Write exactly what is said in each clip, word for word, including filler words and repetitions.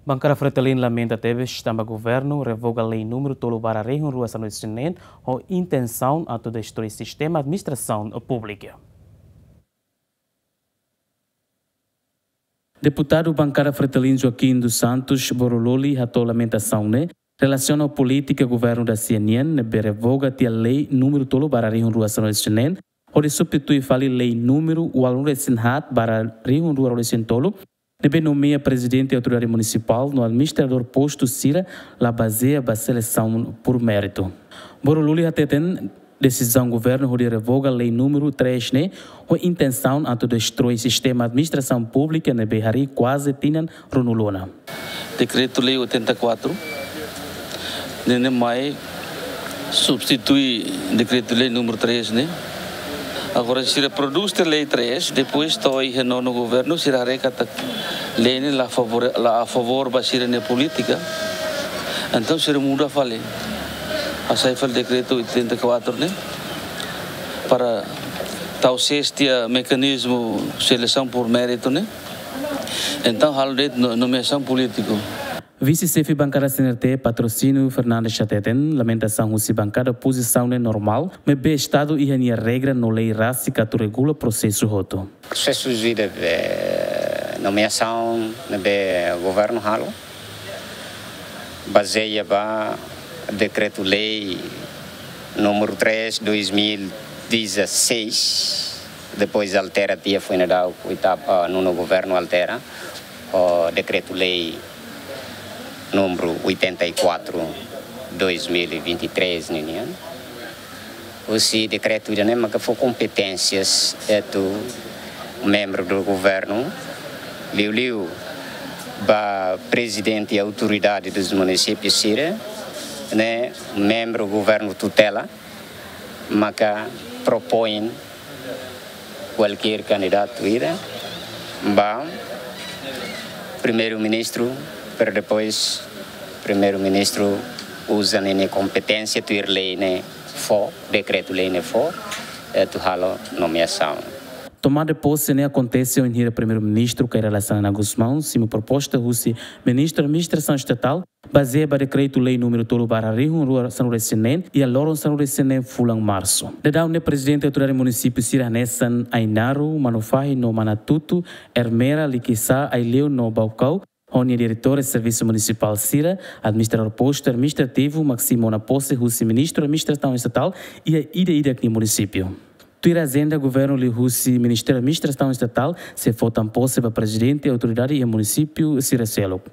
Bankada Fretilin lamenta tebes tanba governu revoga lei númeru tolu barra rihun rua sanulu-resin-neen ho intensaun atu destroi sistema administrasaun públika. Deputadu Bankada Fretilin Joaquim dos Santos Borololi hato'o lamentasaun ne'e relasiona ho polítika governu da-sia nian ne'ebé revoga tiha lei númeru tolu barra rihun rua sanulu-resin-neen, hodi substitui fali lei númeru ualunulu-resin-haat barra rihun rua ruanulu-resin-tolu, ne'ebé nomeia prezidente autoridade munisipál no administradór postu sira la bazeia ba selesaun por méritu. Borololi hateten desizaun governu hodi revoga lei númeru três ne'e ho intensaun atu destroi sistema administrasaun públika ne'ebé harii kuaze tinan ruanulu ona. Dekretu-lei oitenta e quatro, ne'e mai substitui dekretu-lei númeru três ne'e. Agora, sira prodús tiha lei três, depois to'o iha nonu governu, sira haree katak lei ne'e la favore-, la a favór ba sira-nia polítika. Entaun, sira muda fali. Hasai fali dekretu oitenta e quatro ne'e, para tau sees tiha mekanizmu selesaun por méritu ne'e. Entaun, halo de'it no-, nomeasaun polítiku. Vise-xefe bankada C N R T Patrocínio Fernandes hateten lamentasaun husi bankada opozisaun ne'e normál, maibé Estadu iha nia regra no lei rasik atu regula prosesu hotu. Prosesu de, eh, nomeasaun ne'ebé governu halo bazeia ba dekretu-lei númeru três, dois mil e dezasseis, depois altera tiha, foin daudauk oitavu, ah, nonu governu altera, ho dekretu-lei númeru oitenta e quatro, dois mil e vinte e três ninian. Husi dekretu ida-ne'e maka fó kompeténsias atu membru do governu, liuliu ba prezidente autoridade dos munisípius sira, ne'e membru governu tutela, maka propoin kualkér kandidatu ida ba primeiru-ministru, pero depois primeiru-ministru uza ninia kompeténsia tuir lei ne'e fó, dekretu-lei ne'e fó, eh, atu halo nomeasaun. Tomada de pose ne'e akontese wainhira primeiru-ministru Kay Rala Xanana Gusmão simu proposta husi ministru administrasaun estatál, bazeia ba dekretu-lei númeru tolu barra rihun rua sanulu-resin-neen, iha loron sanulu-resin-neen fulan Marsu. Daudaun ne'e prezidente autoridade munisípiu sira hanesan Ainaro, Manufahi no Manatuto, Ermera, Likisá, Aileu no Baucau, ho nia diretór servisu munisipál sira, administradór postu administrativu, mak simu ona pose husi ministru administrasaun estatál iha ida-idak nia munisípiu. Tuir ajenda governu liuhusi Ministériu Administrasaun Estatál sei fó tan pose ba prezidente autoridade iha munisípiu sira seluk.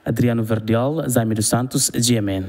Adriano Verdial, Jaime dos Santos, G M N.